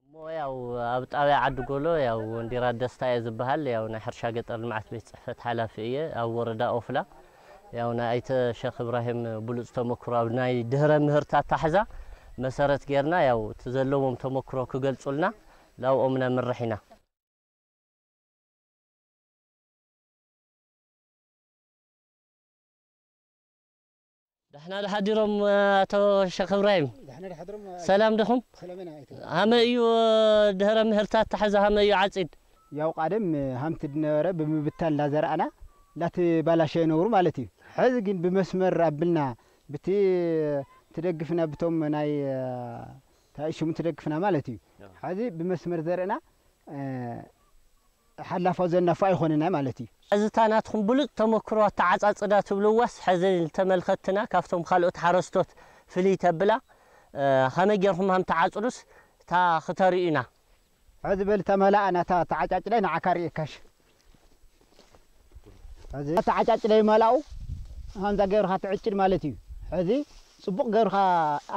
እሞ ያው ኣብ ጣብያ ዓዲ ጎሎ ያው ወንዲራ ደስታ እየ ዝበሃል። ያው ናይ ሕርሻ ገጠር ልምዓት ቤት ፅሕፈት ሓላፊ እየ። ኣብ ወረዳ ኦፍላ ያው ናይ ኣይተ ሸኽ እብራሂም ብሉፅ ተመክሮ ኣብ ናይ ድህረ ምህርቲ ኣታሕዛ መሰረት ጌርና ያው እቲ ዘለዎም ተመክሮ ክገልፁልና ላብኦም ነምርሕ ኢና። ደሕና ደሓዲሮም ኣቶ ሸኽ እብራሂም? ደሕና ደሓድሮም። ሰላም ድኹም? ሰላም ኢና ኣይተ። ሃመ እዩ ድህረ ምህርታት ተሓዘ ሃመ እዩ ዓጺድ? ያው ቃደም ሃምቲ ድነበረ ብምብታን እንዳዘራእና እንዳተባላሸ ይነብሩ ማለት እዩ። ሕዚ ግን ብመስመር ኣብልና ብቲ ትደግፍና ብቶም ናይ ታይሽሙ ትደግፍና ማለት እዩ። ሕዚ ብመስመር ዘርእና ሓላፋ ዘናፋ ኣይኾንና ማለት እዩ። እዚ እታ ናትኩም ብሉጽ ተመክሮ ኣተዓጻጽዳ ትብልዋስ፣ ሕዚ ንተመልከትና ካብቶም ካልኦት ሓረስቶት ፍልይ ተብላ፣ እ፣ ከመይ ጌርኩም ሃም ትዓጽዱስ እታ ክተርእዩና? ሕዚ በል ተመላኣ ናታ ተዓጫጭዳይ ንዓካ ርእየካሽ። ሕዚ ተዓጫጭዳይ መላኡ ሃምዛ ገብርካ ትዕጭድ ማለት እዩ። ሕዚ ጽቡቕ ገብርካ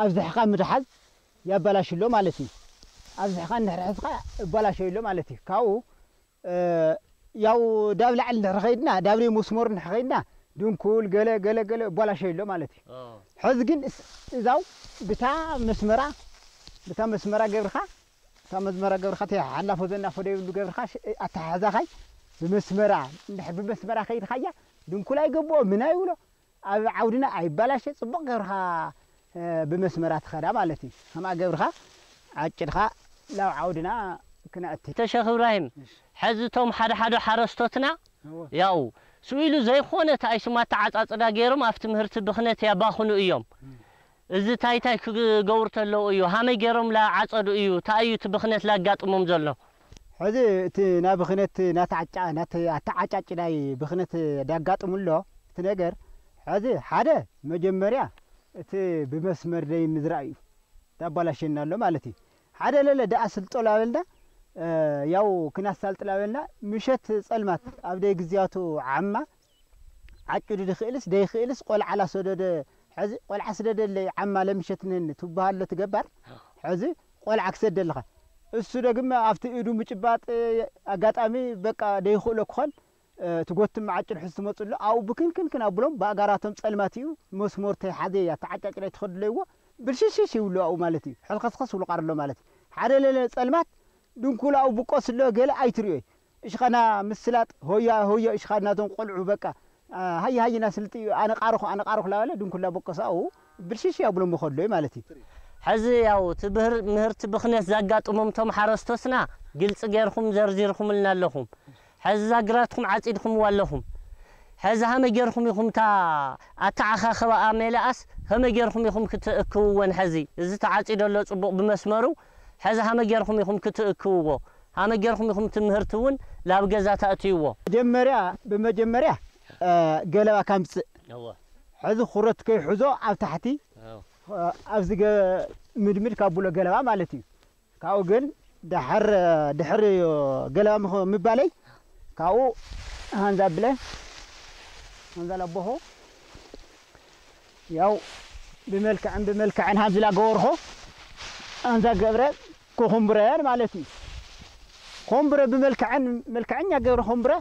ኣብዝሕካ ምድሓዝ ያበላሽሎ ማለት እዩ። ኣብዝሕካ እንድሕር ሕዝካ እባላሸይሎ ማለት እዩ። ካብኡ፣ እ፣ ያው ዳብ ላዕሊ እንድሕር ኸይድና፣ ዳብ ናይ መስመሩ እንድሕር ኸይድና፣ ድንኩል ገለ፣ ገለ፣ ገለ እባላሸይሎ ማለት እዩ። ኦ። ሕዚ ግን እስ-፣ እዛው ብታ መስመራ፣ ብታ መስመራ ገብርካ፣ እታ መስመራ ገብርካ፣ እቲ ሓላፎ ዘናፎ ደይብሉ ገብርካ፣ ሽ-፣ ኣተሓሕዛኻይ ብመስመራ፣ እንድሕር ብመስመራ ከይድካያ፣ ድንኩል ኣይገብኦ፣ ምን ኣይብሎ። ኣብ ዓውድና ኣይባላሸ፣ ጽቡቕ ገብርኻ፣ እ፣ ብመስመራ ትኸዳ ማለት እዩ። ከምኣ ገብርኻ ዓጭድኻ ናብ ዓውድና ክነእቲ። ተሸኽ እብራሂም፣ እሺ። ሕዚ እቶም ሓደ ሓደ ሓረስቶትና፣ እወ። ያው፣ ስኢሉ ዘይኮነ እቲ ኣይሱም ኣተዓጻጽዳ ገይሮም ኣብ ትምህርቲ ብኽነት ያባኽኑ እዮም። እም። እዚ እንታይ እንታይ ክገብሩ ተለዉ እዩ? ሃመይ ገይሮም ላዓጸዱ እዩ? እንታይ እዩ እቲ ብኽነት ላጋጥሞም ዘሎ? ሕዚ እቲ ናይ ብኽነት ናተዓጫ-፣ ናተ-፣ ኣተዓጫጭ ናይ ብኽነት ዳጋጥሙ ኣሎ እቲ ነገር። ሕዚ ሓደ መጀመርያ እቲ ብመስመር ደይ ምዝራእ እዩ ዳባላሸና ኣሎ ማለት እዩ። ሓደ ለለ ደኣ ስልጦ ላበልና፣ እ፣ ያው ክናሳልጥ ላበልና ምሸት ጸልማት ኣብ ደይ ግዜያቱ ዓማ ዓጭዱ ድኽእልስ ደይኽእልስ ቆልዓ ላሰደደ፣ ሕዚ ቆልዓ ስደደለይ ዓማ ለምሸትነን ትበሃሎ ትገባር። ሕዚ ቆልዓ ክሰደልኻ። እሱ ደግመ ኣብቲ ኢዱ ምጭባጥ ኣጋጣሚ በቃ ደይኽእሎ ክኾን፣ እ፣ ትጎትም ዓጭድ ሕዚ ትመጽሎ፣ ኣብኡ ብክንክንክን ኣብሎም ብኣጋራቶም ጸልማት እዩ፣ መስመር ተይሓዘ እያ፣ ተዓጫጭ ናይ ትኸድለይዎ፣ ብልሽሽሽ ይብሉ ኣብኡ ማለት እዩ። ሕልኸስኸስ ይብሉ ቃርሎ ማለት እዩ። ሓደ ለለ ጸልማት ድንኩል ኣብኡ ብቆስሎ ገለ ኣይትርእዮይ። እሽኻና ምስላጥ፣ ሆያ ሆዮ እሽኻና እቶም ቆልዑ በቃ፣ አ፣ ሃየ ሃየ ናስልጥ እዩ፣ ኣነ ቃርኹ፣ ኣነ ቃርኹ ላበለ ድንኩላ በቆሳኡ ብልሽሽ ያብሎ መኸሎ ማለት እዩ። ሕዚ ያው እቲ ብህር-፣ ምህርቲ ብኽነት ዘጋጥሞም እቶም ሓረስቶትና ግልፂ ጌርኩም ዘርዚርኩምልና ኣለኹም። ሕዚ ዛግራትኩም ዓፂድኩምዋ ኣለኹም። ሕዚ ሃመ ጌርኩም ኢኹም እታ ኣተዓኻኽባኣ ሜላኣስ ከመ ጌርኩም ኢኹም ክትእክብወን? ሕዚ እዚ ተዓፂዶ ኣሎ ፅቡቕ ብመስመሩ። ሕዚ ሃመ ጌርኩም ኢኹም ክትእክብዎ? ሃመ ጌርኩም ኢኹም ትምህርቲ እውን ላብ ገዛ ተእትይዎ? መጀመርያ፣ ብመጀመርያ፣ እ፣ ገለባ ካምፅእ። እወ። ሕዚ ኩረት ከይሕዞ ኣብ ታሕቲ፣ እወ። እ፣ ኣብዚ ገ-፣ ምድምድ ካብ ብሎ ገለባ ማለት እዩ። ካብኡ ግን ድሕር፣ ድሕር ገለባ ምኽ-፣ ምባለይ ካብኡ ሃንዛ ብለ፣ ሃንዛ ለቦኹ ያው ብመልክዕን ብመልክዕን ሃንዝላ ገበርኾ፣ ሃንዛ ገብረ ክኹምብረን ማለት እዩ። ኮምብረ ብመልክዕን መልክዕኛ ገብረ ኮምብረ፣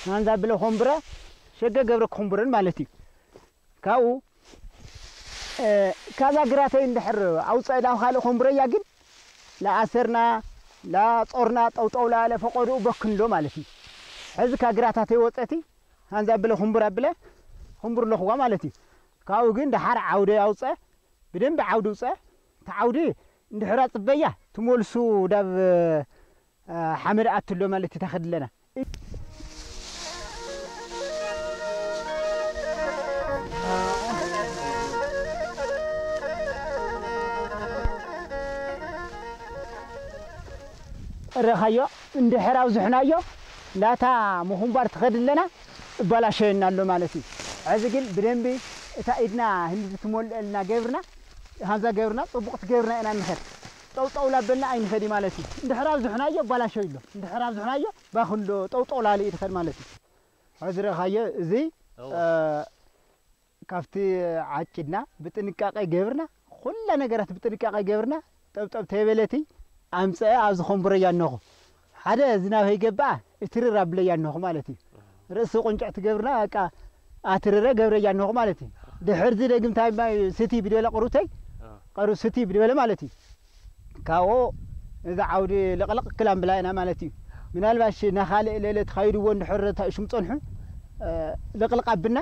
ሃንዛ ብለ ኮምብረ፣ ሸገ ገብረ ክኹምብረን ማለት እዩ። ካብኡ፣ እ፣ ካዛ ግራተይ እንድሕር ኣውፀእላ ካልእ ኮምብረያ ግን ላኣሰርና፣ ላጾርና፣ ጠውጠው ላለ ፈቆድኡ በክንዶ ማለት እዩ። ሕዚ ካ ግራታተይ ወፀቲ፣ ሃንዛ ብለ ኩምቡር ኣብለ፣ ኩምቡር ኣለኹዋ ማለት እዩ። ካብኡ ግን ደሓር ዓውደ ኣውፀ፣ ብደንቢ ዓውዲ ውፀ፣ እቲ ዓውዲ እንድሕራ ፅበያ፣ ትመልሱ ዳብ፣ እ፣ ሓመድ ኣትሎ ማለት እዩ፣ ተኸድለና። ረኻዮ፣ እንድሕር ኣብዝሕናዮ፣ ናታ ምኹንባር ትኸድለና እባላሸየና ኣሎ ማለት እዩ። ሕዚ ግን ብደንቢ እታ ኢድና ህንዲ ትመልአልና ገብርና፣ ሃንዛ ገብርና፣ ጽቡቕ ትገብርና ኢና እንኸድ። ጠውጠው ላበልና ኣይንኸድ ማለት እዩ። እንድሕር ኣብዝሕናዮ እባላሸዩ ኣሎ። እንድሕር ኣብዝሕናዮ ባኽንዶ ጠውጠው ላለ እዩ ትኸድ ማለት እዩ። ሕዚ ረኻዮ እዚ ካብቲ ዓጭድና ብጥንቃቄ ገብርና፣ ኩላ ነገራት ብጥንቃቄ ገብርና፣ ጠብጠብ ተይበለቲ ኣምፀአ ኣብዚ ኾንቡረያ ኣነኹ። ሓደ ዝናብ ከይገባኣ እትርር ኣብለያ ኣነኹ ማለት እዩ። ርእሲ ቁንጭዕ ትገብርና፣ በቃ ኣትርረ ገብረያ ኣነኹ ማለት እዩ። ድሕርዚ ደግምታይ ማይ ስቲ ብድበለ ቅሩተይ፣ ቀሩ ስቲ ብድበለ ማለት እዩ። ካብኡ እዛ ዓውዲ ልቕልቕ ክላም ብላ ኢና ማለት እዩ። ምናልባሽ ናኻልእ ለለ ትኻይድዎ እንድሕር ተእሽም ጸንሑ፣ ልቕልቕ ኣብና፣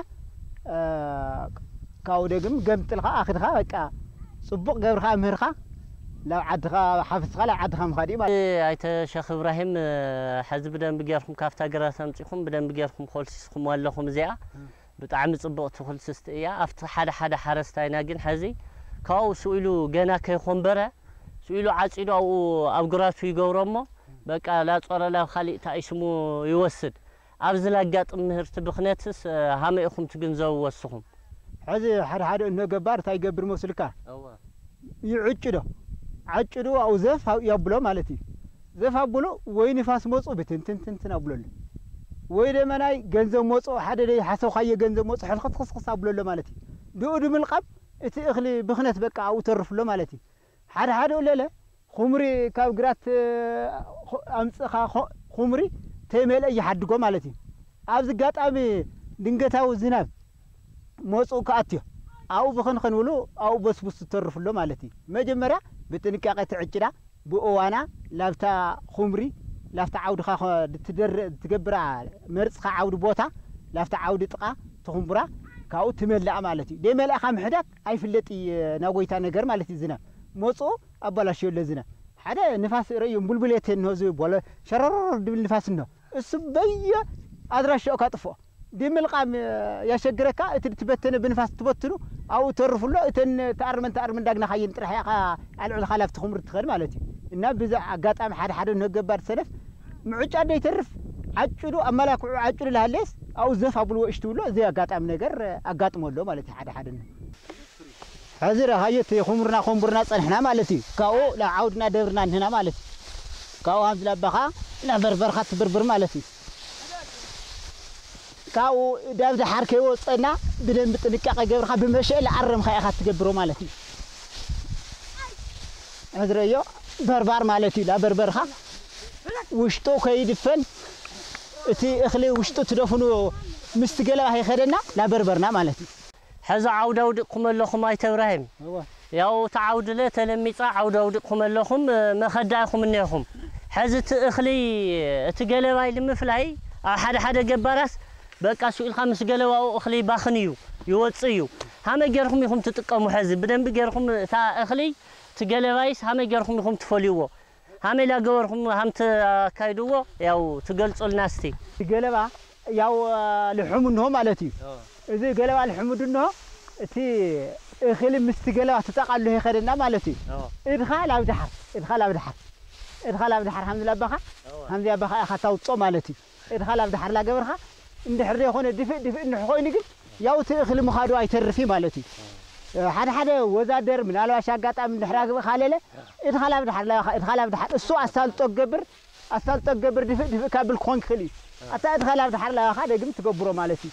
ካብኡ ደግም ገምጥልካ ኣኽድካ በቃ ጽቡቕ ገብርካ ምህርካ ናብ ዓድኻ ሓፍስኻ ናብ ዓድኻ ምኻድ እዩ ማለት። ኣይተ ሸኽ እብራሂም፣ ሕዚ ብደንቢ ጌርኩም ካብታ ግራት ኣምጺኹም ብደንቢ ጌርኩም ኮልሲስኩም ኣለኹም። እዚኣ ብጣዕሚ ጽብቕቲ ኩልስስቲ እያ። ኣብቲ ሓደ ሓደ ሓረስታይና ግን ሕዚ ካብኡ ስኢሉ ገና ከይኾንበረ ስኢሉ ዓጺዱ ኣብኡ ኣብ ግራቱ ይገብሮ እሞ በቃ ላጾረ ላብ ካሊእ ታኢስሙ ይወስድ። ኣብዚ ላጋጥም ምህርቲ ብኽነትስ ሃመ ኢኹም ትግንዘብዎ እስኹም? ሕዚ ሓደ ሓደ እንሆ ገባር እንታይ ይገብር መስልካ? እወ። ይዕጭዶ። ዓጭዱ ኣብኡ ዘፍ የብሎ ማለት እዩ። ዘፍ ኣብሎ ወይ ንፋስ መፁ ብትንትንትንትን ኣብሎሉ። ወይ ደመናይ ገንዘብ መፁ ሓደ ደይ ሓሰብካዮ ገንዘብ መፁ ሕልኽስኽስኽስ ኣብሎሎ ማለት እዩ። ድኡ ድምልቃም እቲ እኽሊ ብኽነት በቃ ኣብኡ ተርፍሎ ማለት እዩ። ሓደ ሓደ ለለ ኹምሪ ካብ ግራት ኣምፅኻ ኹምሪ ተይመልአ ይሓድጎ ማለት እዩ። ኣብዚ ጋጣሚ ድንገታዊ ዝናብ መፁ ክኣትዮ ኣብኡ ብኽንኽን ብሉ ኣብኡ በስቡስ ዝተርፍሎ ማለት እዩ። መጀመርያ ብጥንቃቄ ትዕጭዳ ብእዋና ላብታ ኹምሪ ላብታ ዓውድኻ ትገብራ መርፅኻ ዓውዲ ቦታ ላብታ ዓውዲ ጥቓ ትኹምቡራ ካብኡ ትመልኣ ማለት እዩ። ደይመልእኻ ምሕዳግ ኣይፍለጥ እዩ ናጎይታ ነገር ማለት እዩ። ዝናብ መፁ ኣባላሽዮ ለዝነ ሓደ ንፋስ ረእዮም ቡልቡሌት እንሆ ዝብል ቦለ ሸረረር ድብል ንፋስ እንሆ እሱ በየ ኣድራሻኡ ካጥፍኦ ድምልቃም ያሸግረካ እቲ ትበተነ ብንፋስ ትበትኑ ኣብኡ ተርፍሎ እተን ተኣርመን ተኣርመን ዳግና ካየን ጥራሕ ያኻ ኣልዕልኻ ላብቲ ክምር ትኸድ ማለት እዩ። እና ብዛ ኣጋጣሚ ሓደ ሓደ ንገባር ሰነፍ ምዑጫ ደይተርፍ ዓጭዱ ኣመላክዑ ዓጭዱ ላሃለስ ኣብኡ ዘፍ ኣብልዎ እሽትብሎ እዚ ኣጋጣሚ ነገር ኣጋጥሞ ኣሎ ማለት እዩ። ሓደ ሓደ ሕዚ ረኻዮ እቲ ኹምርና ኾምቡርና ጸንሕና ማለት እዩ። ካብኡ ናብ ዓውድና ደብርና እንህና ማለት እዩ። ካብኡ ሃምዚ ላባኻ ናብ በርበርኻ ትብርብር ማለት እዩ። ካብኡ ዳብ ደሓር ከይወጸና ብደንብ ጥንቃቄ ገብርካ ብመሸ ለኣረምካ ኢኻ ትገብሮ ማለት እዩ። ሕዝረዮ በርባር ማለት እዩ። ላበርበርካ ውሽጡ ከይድፈን እቲ እኽሊ ውሽጡ ትደፍኑ ምስቲ ገለባ ከይኸደና ላበርበርና ማለት እዩ። ሕዚ ዓውዲ ኣውዲቕኩም ኣለኹም ኣይተ እብራሂም። እወ። ያው እቲ ዓውዲ ለ ተለሚጻ ዓውዲ ኣውዲቕኩም ኣለኹም፣ መኸዳ ኢኹም እኒኹም። ሕዚ እቲ እኽሊ፣ እቲ ገለባይ ንምፍላይ ኣብ ሓደ ሓደ ገባራት በቃ ስኢልካ ምስ ገለባኡ እኽሊ ይባኽን እዩ፣ ይወጽእ እዩ። ሃመይ ጌርኩም ኢኹም ትጥቀሙ? ሕዚ ብደንቢ ጌርኩም እታ እኽሊ፣ እቲ ገለባይስ ሃመይ ጌርኩም ኢኹም ትፈልይዎ? ሃመይ ላገበርኩም ሃም ተካይድዎ ያው ትገልጹልና እስቲ። ገለባ ያው ልሑም እንሆ ማለት እዩ። ኦ። እዚ ገለባ ልሑም እንሆ እቲ እኽሊ ምስቲ ገለባ ትጠቃሉ ይኸደና ማለት እዩ። ኦ። እድኻ ላብ ድሓር፣ እድኻ ላብ ድሓር፣ እድኻ ላብ ድሓር ሃምዚ ላባኻ፣ ኦ። ሃምዚ ኣባኻ ኢኻ ታውጾ ማለት እዩ። እድኻ ላብ ድሓር ላገበርኻ እንድሕር ዘይኮነ ድፍእ ድፍእ እንድሕር ኮይኑ ግን ያው እቲ እኽሊ ምኻዱ ኣይተርፍ እዩ ማለት እዩ። ሓደ ሓደ ወዛደር ምናልባሽ ኣጋጣሚ እንድሕር ኣግብእ ካለለ እድኻ ላብ ድሓር ላኻ፣ እድኻ ላብ ድሓር እሱ ኣሳልጦ ገብር፣ ኣሳልጦ ገብር ድፍእ ድፍእ ካብል ክኾን ክኽእል እዩ። ኣታ እድኻ ላብ ድሓር ላኻ ደግም ትገብሮ ማለት እዩ።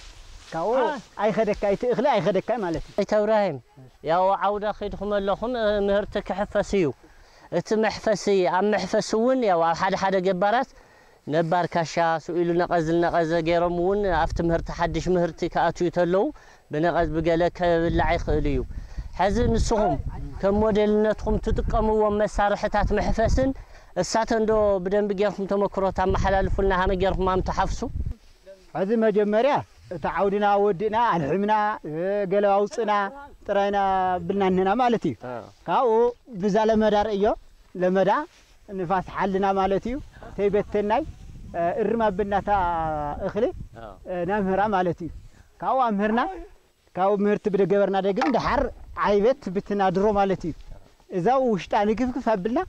ካብኡ አ። ኣይኸደካ፣ እቲ እኽሊ ኣይኸደካ ማለት እዩ። ኣይተ እብራሂም፣ ያው ዓውዳ ከይድኩም ኣለኹም፣ እ፣ ምህርቲ ክሕፈስ እዩ። እቲ መሕፈሲ፣ ኣብ መሕፈሲ እውን ያው ኣብ ሓደ ሓደ ገባራት ነባር ካሻ ስኢሉ ነቐዝ ነቐዘ ገይሮም እውን ኣብቲ ምህርቲ ሓድሽ ምህርቲ ክኣትዩ ተለዉ ብነቐዝ ብገለ ከብላዕ ይኽእል እዩ። ሕዚ ንስኹም ከም ሞዴልነትኩም ትጥቀምዎም መሳርሕታት መሕፈስን እሳተን ዶ ብደንቢ ጌርኩም ተመክሮ ተመሓላልፉልና ሃመ ጌርኩም ኣም ትሓፍሱ? ሕዚ መጀመርያ እቲ ዓውድና ወዲእና ኣልሕምና፣ እ፣ ገለ ኣውፅና ጥራይና ብልና እንህና ማለት እዩ። እ። ካብኡ ብዛ ለመዳ ርእዮ፣ ለመዳ ንፋስ ሓልና ማለት እዩ። ተይበተናይ፣ እ፣ እርም ኣብናታ እኽሊ፣ እ። እ፣ ናምህራ ማለት እዩ። ካብኡ ኣምህርና፣ ካብኡ ምህርቲ ብደገበርና ደግም ደሓር ዓይበት ብትና ድሮ ማለት እዩ። እዛው ውሽጣ ንግፍግፍ ኣብልና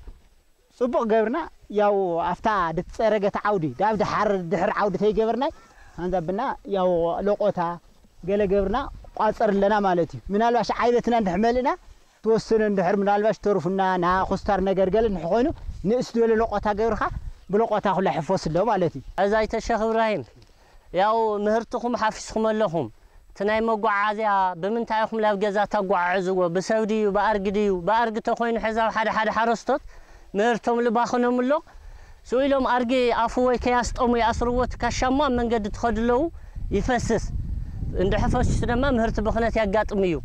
ጽቡቕ ገብርና፣ ያው ኣፍታ ድትጸረገት ዓውዲ፣ ዳብ ድሓር ድሕር ዓውዲ ተይገበርናይ፣ ሃንዛብና ያው ለቆታ ገለ ገብርና ቋጸር ኣለና ማለት እዩ። ምናልባሽ ዓይበትና እንድሕር መልእና፣ ተወሰነ እንድሕር ምናልባሽ ተርፉና፣ ና ኩስታር ነገር ገለ እንድሕር ኮይኑ፣ ንእስ ዝበለ ለቆታ ገብርካ፣ ብለቆታ ኩላ ሕፎስ ኣሎ ማለት እዩ። እዛ ኣይተ ሸኽ እብራሂም፣ ያው ምህርትኹም ሓፊስኩም ኣለኹም። እቲ ናይ መጓዓዝያ ብምንታይ ኢኹም ናብ ገዛ ተጓዓዕዝዎ? ብሰብ ድዩ፣ ብኣርግ ድዩ? ብኣርግ ተኾይኑ ሕዚ ኣብ ሓደ ሓደ ሓረስቶት ምህርቶም ልባኽኖም ኣሎ። ስኡ ኢሎም ኣርጊ ኣፉ ወይ ከያስጠሙ ይኣስርዎ፣ እቲ ካሻ እሞ ኣብ መንገዲ ትኸዱ ኣለዉ ይፈስስ። እንድሕር ፈሲሱ ድማ ምህርቲ ብኽነት ያጋጥም እዩ።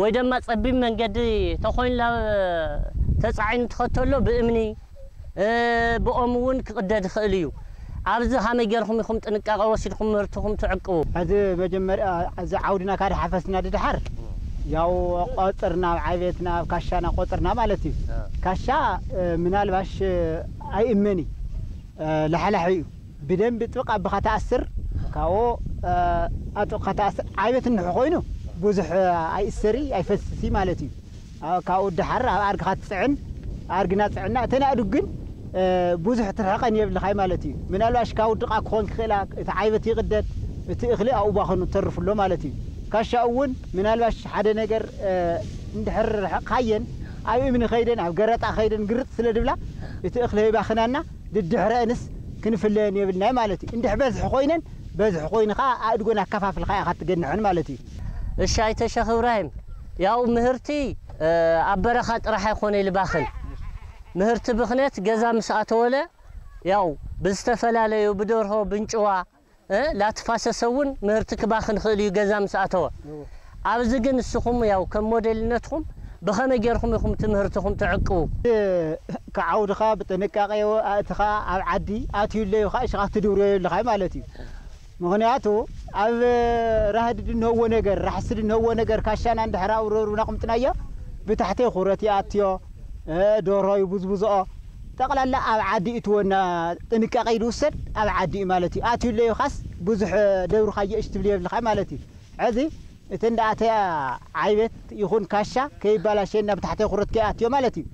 ወይ ድማ ጸቢብ መንገዲ ተኾይኑ ናብ ተጻዒኑ ትኸተሎ ብእምኒ እ፣ ብኦም እውን ክቕደድ ይኽእል እዩ። ኣብዚ ከመይ ጌርኩም ኢኹም ጥንቃቐ ወሲድኩም ምህርትኹም ትዕቅቡ? ሕዚ መጀመርያ እዚ ዓውድና ካደ ሓፈስና ድድሓር ያው ቆጽርና ኣብ ዓቤትና ኣብ ካሻና ቆጽርና ማለት እዩ። እ። ካሻ፣ እ፣ ምናልባሽ፣ እ፣ ኣይእመን እዩ። እ፣ ላሕላሕ እዩ። ብደንቢ ጥብቕ ኣቢኻ ተኣስር፣ ካብኡ፣ እ፣ ኣጥብቕካ ተኣስር። ዓቤት እንሕ ኮይኑ ብዙሕ፣ እ፣ ኣይእሰር እዩ፣ ኣይፈስስ እዩ ማለት እዩ። ኣብ ካብኡ ደሓር ኣብ ኣርግኻ ትጽዕን፣ ኣርግና ጽዕና። እተን ኣእዱግ ግን፣ እ፣ ብዙሕ ትርሕቐን የብልኻይ ማለት እዩ። ምናልባሽ ካብ ውድቓ ክኾን ክኽእላ፣ እቲ ዓይበት ይቕደድ፣ እቲ እኽሊ ኣብኡ ባኸኑ ተርፍ ኣሎ ማለት እዩ። ካሻ እውን ምናልባሽ ሓደ ነገር፣ እ፣ እንድሕር ርሕቕካየን፣ ኣብ እምኒ ኸይደን፣ ኣብ ገረጣ ኸይደን ግርጥ ስለ ድብላ፣ እቲ እኽሊ ይባኽናና፣ ድድሕረአንስ ክንፍለየን የብልናይ ማለት እዩ። እንድሕ በዝሒ ኮይነን፣ በዝሒ ኮይኑ ኸዓ ኣእድጎን ኣከፋፍልካ ኢኻ ትገንሐን ማለት እዩ። እሺ፣ ኣይተ ሸኽ እብራሂም፣ ያው ምህርቲ፣ እ፣ ኣብ በረኻ ጥራሕ ኣይኮነ ይልባኽን። ምህርቲ ብኽነት ገዛ ምስ ኣተወለ፣ ያው ብዝተፈላለዩ ብደርሆ፣ ብንጭዋ፣ እ፣ ላትፋሰሰ እውን ምህርቲ ክባኽን ይኽእል እዩ ገዛ ምስ ኣተወ። እዎ። ኣብዚ ግን ንስኹም ያው ከም ሞዴልነትኩም ብኸመይ ጌርኩም ኢኹም እቲ ምህርትኹም ትዕቅቡ? እ፣ ክዓውድኻ ብጥንቃቄ ኣእትኻ ኣብ ዓዲ ኣትዩለዩ ኸዓ እሺ ኻትድብርዮ የብልኻይ ማለት እዩ። ምኽንያቱ ኣብ ራህዲ ድንህዎ ነገር፣ ራሕሲ ድንህዎ ነገር ካሻና እንድሕር ኣብ ረብርብና ቁምጥናዮ ብታሕተይ ኩረት ይኣትዮ፣ እ፣ ደርሆ ይቡዝቡዝኦ። ጠቕላላ ኣብ ዓዲ እዩ እቲ ወና ጥንቃቄ ይውሰድ፣ ኣብ ዓዲ እዩ ማለት እዩ። ኣትዩለዩ ኻስ ብዙሕ ደብርኻዮ እሽ ትብል የብልኻ ማለት እዩ። ሕዚ እቲ እንዳኣተያ ዓይበት ይኹን ካሻ ከይባላሸና ብታሕተይ ኩረት ከይኣትዮ ማለት እዩ።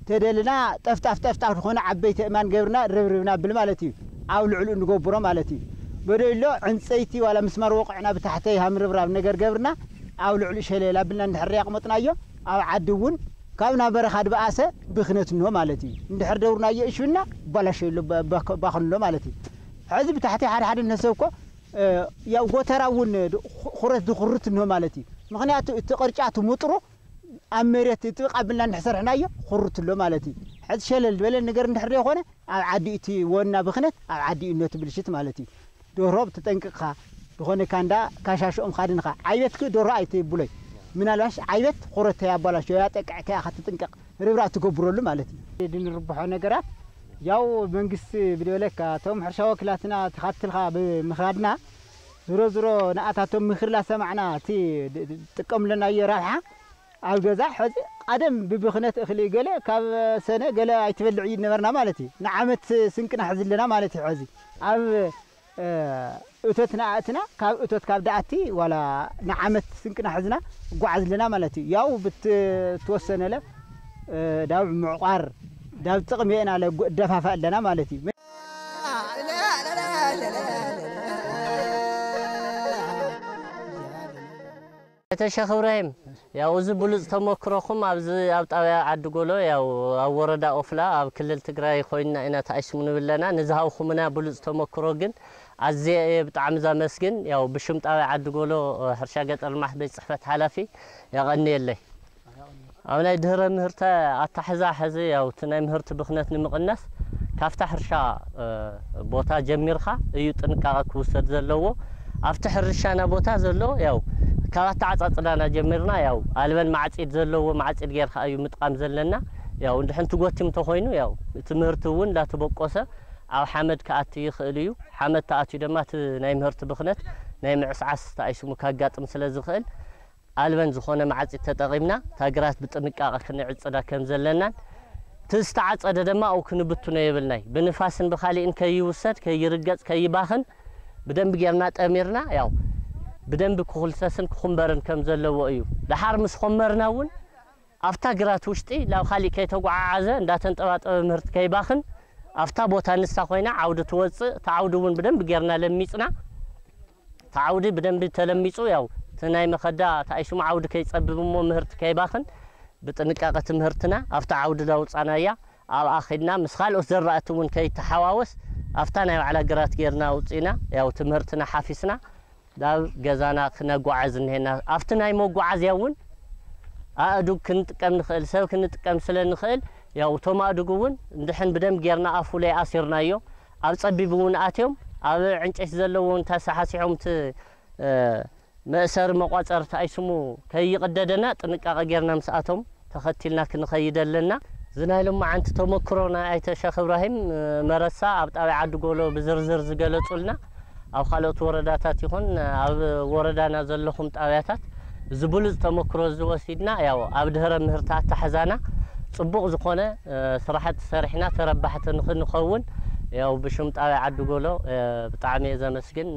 ተደልና ጠፍጣፍ ጠፍጣፍ ዝኾነ ዓበይቲ እማን ገብርና ርብርብና ብል ማለት እዩ። ኣብ ልዕሉ እንገብሮ ማለት እዩ። በደሎ ዕንፀይቲ ዋላ ምስማር ወቕዕና ብታሕተይ ሃምርብራብ ነገር ገብርና ኣብ ልዕሉ ሸለል ኣብልና እንድሕር ኣቕመጥናዮ ኣብ ዓዲ እውን ካብ ናብ በረኻ ድበኣሰ ብኽነት እንሆ ማለት እዩ። እንድሕር ደብርናዮ እሽብና ባላሸሎ ባ-፣ ባ-፣ ባኽንሎ ማለት እዩ። ሕዚ ብታሕተይ ሓደ ሓደ እነሰብ እኮ፣ እ፣ ያው ጎተራ እውን ድ-፣ ኹ-፣ ኹረት ዝኹርት እንሆ ማለት እዩ። ምኽንያቱ እቲ ቅርጫ እቲ ምጥሩ ኣብ መሬት ጥብቕ ኣቢልና እንድሕር ሰርሕናዮ ኹርት ኣሎ ማለት እዩ። ሕዚ ሸለል ዝበለ ነገር እንድሕር ዘይኮነ ኣብ ዓዲ እቲ ወና ብኽነት ኣብ ዓዲ እዩ እነቲ ብልሽት ማለት እዩ። ደርሆ ብትጠንቅቕኻ ዝኾነ ካንዳ ካሻሽኦም ኻድንኻ። ዓይበትክ ደርሆ ኣይትብሎይ። ምናልባሽ ዓይበት ኹረተይ ኣባላሽዮ ያጠቅዕካ ኢኻ ትጥንቀቕ። ርብራብ ትገብረሉ ማለት እዩ። ድንርብሖ ነገራት ያው መንግስቲ ብደለካ እቶም ሕርሻ ወክላትና ተኻትልካ ብምኻድና ዝሮ ዝሮ ንኣታቶም ምኽሪ ላሰማዕና እቲ ድ-፣ ድ-፣ ጥቀምለናዮ ረብሓ ኣብ ገዛ ሕዚ ቀደም ብብኽነት እኽሊ ገለ ካብ ሰነ ገለ ኣይትበልዕ እዩ ነበርና ማለት እዩ። ንዓመት ስንቅና ሕዚ ኣለና ማለት እዩ። ሕዚ ኣብ፣ እ፣ እቶትና ኣእትና ካብ እቶት ካብ ደኣቲ ዋላ ንዓመት ስንቅና ሕዝና እጓዓዝ ኣለና ማለት እዩ። ያው ብትወሰነለ፣ እ፣ ዳብ ምዕቋር ዳብ ጥቕሚ ኢና ለጉ-፣ ደፋፋእ ኣለና ማለት እዩ። ኣይተ ሸኽ እብራሂም፣ ያው እዚ ብሉጽ ተሞክሮኹም ኣብዚ ኣብ ጣብያ ዓዲ ጎሎ፣ ያው ኣብ ወረዳ ኦፍላ፣ ኣብ ክልል ትግራይ ኮይንና ኢና ተኣይስሙ ንብል ኣለና። ንዝሃብኩምና ብሉጽ ተሞክሮ ግን ኣዝየ እየ ብጣዕሚ ዘመስግን። ያው ብሽም ጣብያ ዓዲ ጎሎ ሕርሻ ገጠር ልማት ቤት ጽሕፈት ሓላፊ የቐንየለይ። ኣብ ናይ ድህረ ምህርቲ ኣታሕዛ ሕዚ ያው እቲ ናይ ምህርቲ ብኽነት ንምቕናስ ካብታ ሕርሻ፣ እ፣ ቦታ ጀሚርካ እዩ ጥንቃቐ ክውሰድ ዘለዎ። ኣብቲ ሕርሻና ቦታ ዘሎ ያው ካብ ኣተዓጻጽዳና ጀሚርና ያው ኣልበን ማዕጺድ ዘለዎ ማዕጺድ ጌርካ እዩ ምጥቃም ዘለና። ያው እንድሕን ትጎቲም እንተኾይኑ ያው እቲ ምህርቲ እውን እንዳተበቆሰ ኣብ ሓመድ ክኣቲ ይኽእል እዩ። ሓመድ ተኣትዩ ድማ እቲ ናይ ምህርቲ ብኽነት ናይ ምዕስዓስ ተኣይስሙ ካጋጥም ስለ ዝኽእል ኣልበን ዝኾነ መዓጺድ ተጠቒምና እታ ግራት ብጥንቃቐ ክንዕጽዳ ከም ዘለናን፣ እቲ ዝተዓጸደ ድማ ኣብኡ ክንብትኖ የብልናይ። ብንፋስን ብኻሊእን ከይውሰድ፣ ከይርገጽ፣ ከይባኽን ብደንቢ ጌርና ጠሚርና፣ ያው ብደንቢ ክኹልሰስን ክኹንበርን ከም ዘለዎ እዩ። ደሓር ምስ ኾመርና እውን ኣብታ ግራት ውሽጢ ናብ ኻሊእ ከይተጓዓዓዘ እንዳተንጠባጠበ ምህርቲ ከይባኽን ኣብታ ቦታ ንሳ ኮይና ዓውዲ ትወጽእ። እታ ዓውዲ እውን ብደንቢ ጌርና ለሚጽና። እቲ ዓውዲ ብደንቢ ተለሚጹ፣ ያው እቲ ናይ መኸዳ ተኣይሱም ዓውዲ ከይጸብብ እሞ ምህርቲ ከይባኽን ብጥንቃቐ እቲ ምህርትና ኣብቲ ዓውዲ ዳውጻናያ ኣብኣ ኸድና ምስ ካልኦት ዘራእቲ እውን ከይተሓዋወስ ኣብታ ናይ ባዕላ ግራት ጌርና ኣውፂእና፣ ያው ትምህርትና ሓፊስና ናብ ገዛና ክነጓዓዝ እኒሄና። ኣብቲ ናይ መጓዓዝያ እውን ኣእዱግ ክንጥቀም ንኽእል፣ ሰብ ክንጥቀም ስለ ንኽእል፣ ያው እቶም ኣእዱግ እውን እንድሕን ብደንብ ጌርና ኣፉ ለይ ኣሲርናዮ። ኣብ ፀቢብ እውን ኣትዮም ኣብ ዕንጨይቲ ዘለዎ እውን ተሰሓሲሖም እቲ መእሰሪ መቋፀርቲ ኣይስሙ ከይቕደደና ጥንቃቐ ጌርና ምስኣቶም ተኸቲልና ክንኸይድ ኣለና። እዚ ናይ ሎማዓንቲ ተመክሮ ናይ ኣይተ ሸኽ እብራሂም መረሳ ኣብ ጣብያ ዓዲ ጎሎ ብዝርዝር ዝገለጹልና፣ ኣብ ካልኦት ወረዳታት ይኹን ኣብ ወረዳና ዘለኹም ጣብያታት እዚ ብሉፅ ተመክሮ እዚ ወሲድና፣ ያው ኣብ ድህረ ምህርቲ ኣታሕዛና ፅቡቕ ዝኾነ ስራሕቲ ሰሪሕና ተረባሕቲ ንኽንኸውን፣ ያው ብሽም ጣብያ ዓዲ ጎሎ ብጣዕሚ እየ ዘመስግን።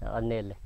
የቐንየለይ።